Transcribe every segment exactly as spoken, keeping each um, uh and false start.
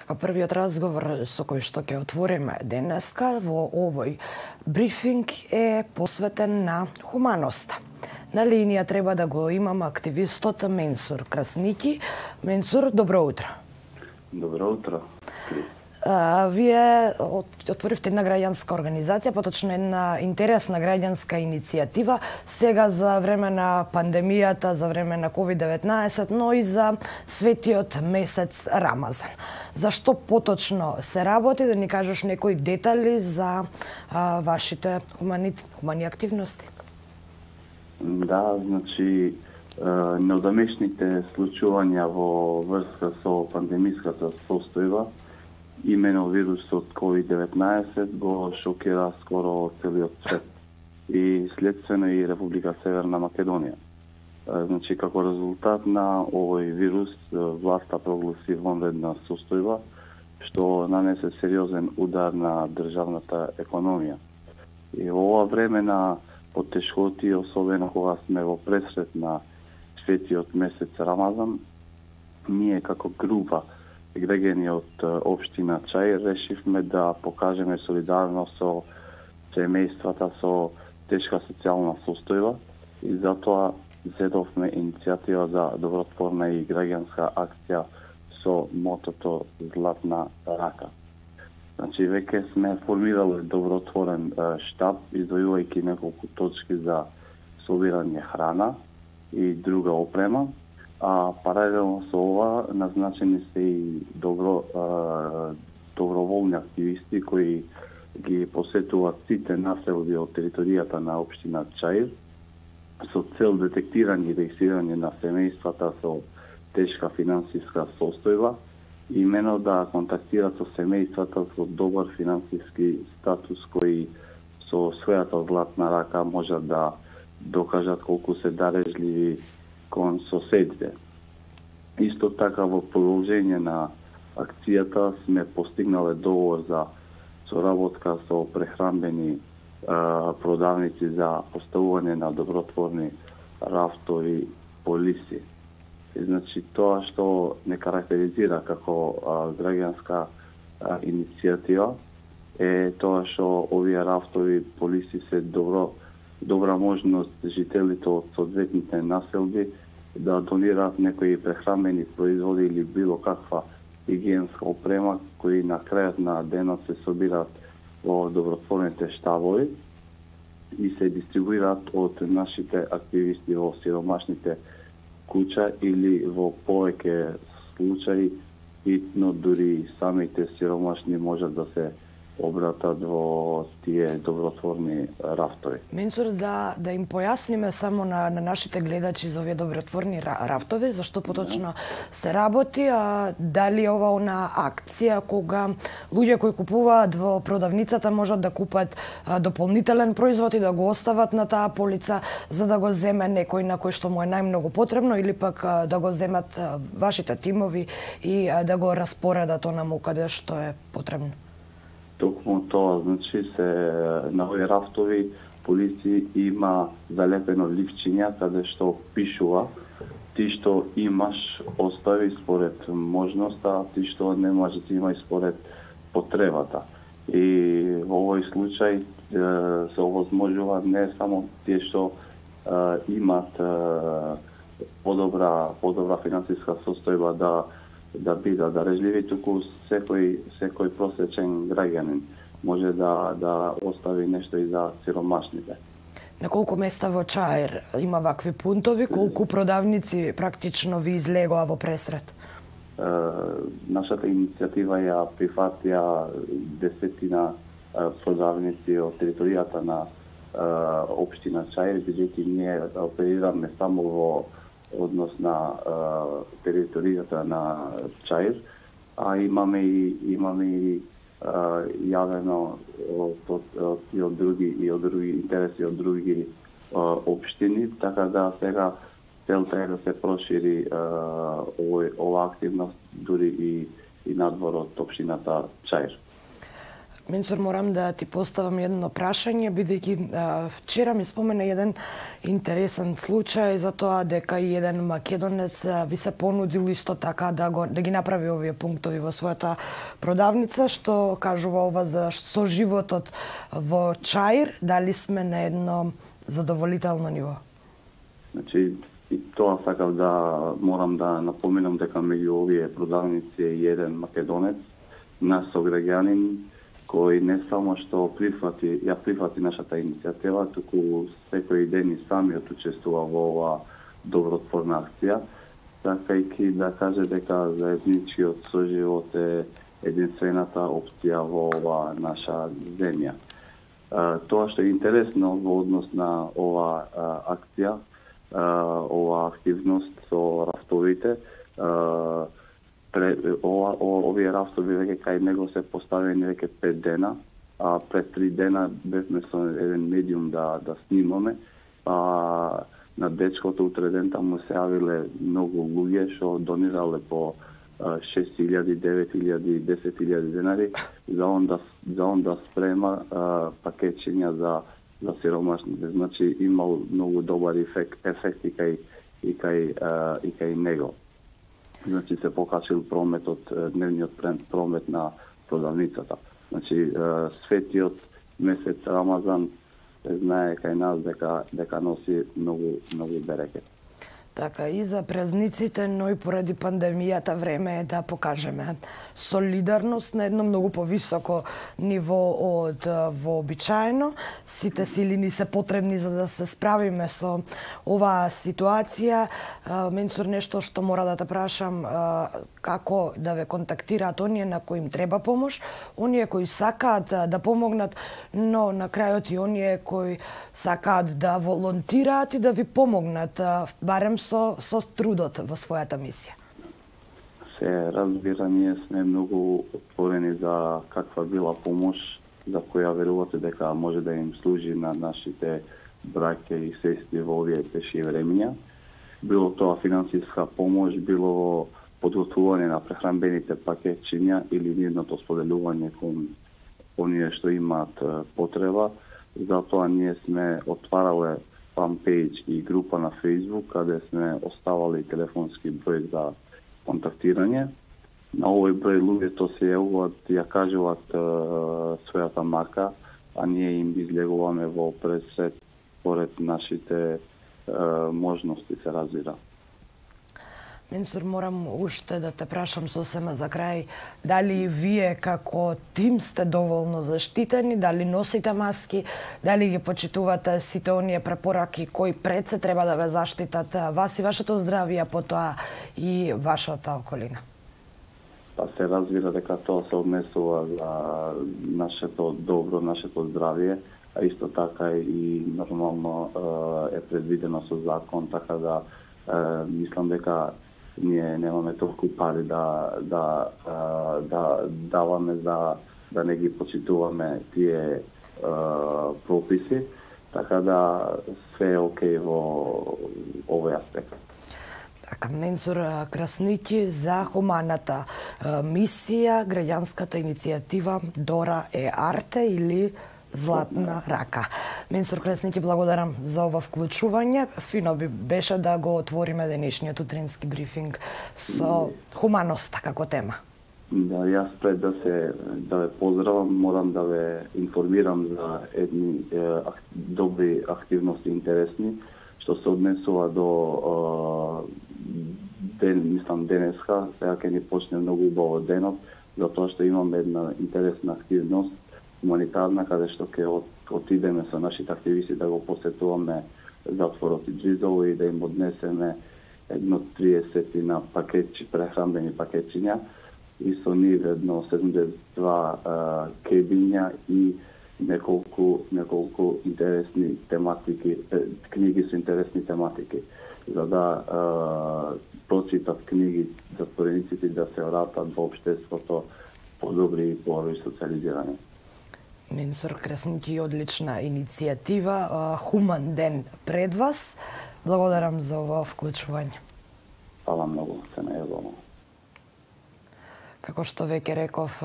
Така, првиот разговор со кој што ќе отвориме денеска во овој брифинг е посветен на хуманоста. На линија треба да го имам активистот Менсур Красники. Менсур, добро утро. Добро утро. А, вие отворивте една граѓанска организација, поточно една интересна граѓанска иницијатива, сега за време на пандемијата, за време на ковид деветнаесет, но и за светиот месец Рамазан. Зашто поточно се работи, да ни кажеш некои детали за а, вашите хумани, хумани активности? Да, значи, неодамешните случувања во врска со пандемиската состојба, имено вирусот ковид деветнаесет го шокира скоро целиот свет и следствено и Република Северна Македонија. Значи, како резултат на овој вирус, власта прогласи вонредна состојба, што нанесе сериозен удар на државната економија. И во ова време на потешкоти, особено кога сме во пресрет на светиот месец Рамазан, ние како група граѓани од општина Чаир решивме да покажеме солидарност со семејствата со тешка социјална состојба и затоа зедовме иницијатива за добротворна и граѓанска акција со мотото Златна рака. Значи, веќе сме формирали добротворен штаб, издвојувајќи неколку точки за собирање храна и друга опрема, а паралелно со ова назначени се и добро, а, доброволни активисти кои ги посетуваат сите населби од територијата на општина Чаир со цел детектирање и регистрирање на семејствата со тешка финансиска состојба, имено да контактираат со семејствата со добар финансиски статус кои со својата златна рака можат да докажат колку се дарежливи кон соседите. Исто така во продолжение на акцијата сме постигнале договор за соработка со прехранбени а, продавници за поставување на добротворни рафтови полиси. И, значи, тоа што не карактеризира како а, граѓанска а, иницијатива е тоа што овие рафтови полиси се добро добра можност жителите од соодветните населби да донираат некои прехранбени производи или било каква хигиенска опрема кои на крајот на денот се собираат во добротворните штабови и се дистрибуираат од нашите активисти во сиромашните куќа или во повеќе случаи итно дури самите сиромашни можат да се обратат во тие добротворни рафтови. Менсур, да, да им појасниме само на, на нашите гледачи за овие добротворни рафтови, зашто поточно се работи, а дали е ова она акција кога луѓе кои купуваат во продавницата можат да купат а, дополнителен производ и да го остават на таа полица за да го земе некој на кој што му е најмногу потребно или пак а, да го земат а, вашите тимови и а, да го распоредат онаму каде што е потребно? Токму тоа, значи, се на овие рафтови полиција има залепено ливчиња каде што пишува ти што имаш остави според можноста, ти што немаш ти има според потребата. И во овој случај се овозможува не само тие што е, имат е, подобра подобра финансиска состојба да да бидат дарежливи, туку секој секој просечен граѓанин може да да остави нешто и за сиромашните. На колку места во Чаир има вакви пунтови, колку продавници практично ви излегоа во пресрет? Е, нашата иницијатива ја прифатија десетина е, продавници од територијата на е, општина Чаир, бидејќи ние оперираме само во однос на е, територијата на Чаир, а имаме и имаме и е, јавено од, од, од, и од други и од други интереси од други е, општини, така да сега целта е да се прошири е, овој ова активност дури и и надвор од општината Чаир. Менсур, морам да ти поставам едно прашање, бидејќи вчера ми спомена еден интересен случај за тоа дека и еден македонец а, ви се понудил исто така да го да ги направи овие пунктови во својата продавница, што кажува ова за со животот во Чаир, дали сме на едно задоволително ниво? Значи, и тоа сакав да морам да напоменам дека меѓу овие продавници е еден македонец, наш сограѓанин, кој не само што прифати, ја прифати нашата иницијатива, туку секој ден и самиот учествува во ова добротворна акција, сакајќи да каже дека заедничкиот соживот е единствената опција во ова наша земја. Тоа што е интересно во однос на ова акција, ова активност со рафтовите, ова, овие рафтови веќе кај него се поставени веќе пет дена, а пред три дена бевме со еден медиум да да снимаме, а на дечкото утре ден таму се јавиле многу луѓе што донирале по шест илјади, девет илјади, десет илјади денари за он да за он да спрема а, пакетчиња за за сиромашните. Значи имал многу добар ефект, ефект и кај и кај а, и кај него. Значи се покачил прометот, дневниот промет на продавницата. Значи светиот месец Рамазан се знае кај нас дека дека носи многу многу берекет. Така и за празниците, но и поради пандемијата време е да покажеме солидарност на едно многу повисоко ниво од вообичаено. Сите сили ни се потребни за да се справиме со оваа ситуација. Менсур, нешто што мора да те прашам, како да ве контактираат оние на кои им треба помош, оние кои сакаат да помогнат, но на крајот и оние кои сакаат да волонтираат и да ви помогнат, барем со, со трудот во својата мисија. Се разбира, ние сме многу отворени за каква била помош за која верувате дека може да им служи на нашите браќа и сестри во овие тешки времиња. Било тоа финансиска помош, било подготвување на прехранбените пакетчиња или нивното споделување кон оние што имаат потреба. Затоа ние сме отварале фанпејдж и група на Facebook, каде сме оставали телефонски број за контактирање. На овој број луѓето се јавуваат, ја кажуваат е, својата мака, а ние им излегуваме во пресвет поред нашите е, можности, се разбира. Менсур, морам уште да те прашам сосема за крај, дали вие како тим сте доволно заштитени, дали носите маски, дали ги почитувате сите оние препораки кои пред се треба да ве заштитат вас и вашето здравје, потоа и вашата околина? Па се разбира дека тоа се однесува за нашето добро, нашето здравје, а исто така и нормално е предвидено со закон, така да мислам дека ние немаме толку пари да да да даваме за да не ги почитуваме тие прописи, така да се е окей во овој аспект. Така, Менсур Красники за хуманата мисија, граѓанската иницијатива Дора е Арте или Златна рака. Менсур Красники, благодарам за ова вклучување. Фино би беше да го отвориме денешниот утрински брифинг со хуманоста како тема. Да, јас пред да се да ве поздравам, морам да ве информирам за едни е, ак, добри активности интересни што се однесува до е, ден, мислам денеска, сега ќе ни почне многу убаво денот, затоа што имаме една интересна активност хуманитарна, каде што ќе от, отидеме со нашите активисти да го посетуваме затворот и Джизово и да им однесеме едно триесет на пакетчи, прехранбени пакетчиња и со нив едно седумдесет и два а, кебиња и неколку неколку интересни тематики, книги со интересни тематики, за да а, прочитат книги затворениците да се вратат во општеството подобри и по-добри социализирање. Менсур Красники, одлична иницијатива, хуман ден пред вас. Благодарам за ова вклучување. Фала многу, се најавувам. како што веќе реков,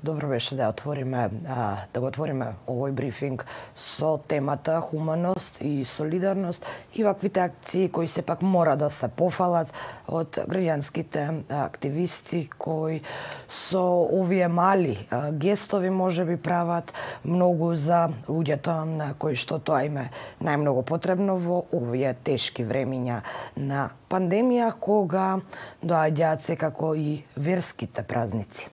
добро беше да отвориме да го отвориме овој брифинг со темата хуманост и солидарност и ваквите акции кои сепак мора да се пофалат од граѓанските активисти кои со овие мали гестови можеби прават многу за луѓето на кои што тоа им е најмногу потребно во овие тешки времиња на пандемија, кога доаѓаат секако и верските празници.